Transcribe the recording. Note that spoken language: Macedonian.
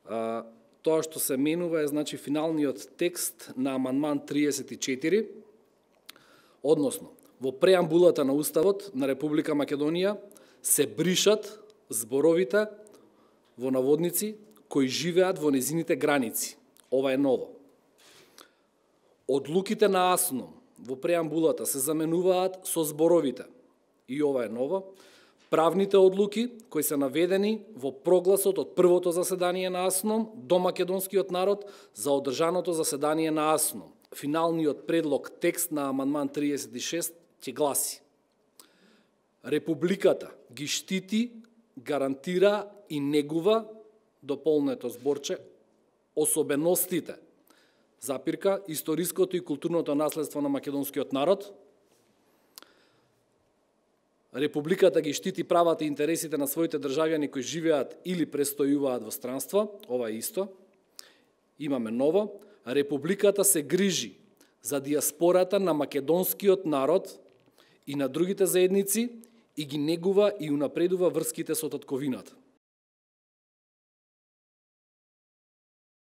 Тоа што се менува е значи финалниот текст на амандман 34, односно во преамбулата на Уставот на Република Македонија се бришат зборовите во наводници кои живеат во незините граници. Ова е ново. Одлуките на АСНОМ во преамбулата се заменуваат со зборовите. И ова е ново. Правните одлуки кои се наведени во прогласот од првото заседание на АСНОМ до македонскиот народ за одржаното заседание на АСНОМ. Финалниот предлог текст на амандман 36 ќе гласи: Републиката ги штити, гарантира и негува, дополнето зборче, особеностите, запирка, историското и културното наследство на македонскиот народ. Републиката ги штити правата и интересите на своите државјани кои живеат или престојуваат во странство. Ова е исто. Имаме ново. Републиката се грижи за диаспората на македонскиот народ и на другите заедници и ги негува и унапредува врските со татковината.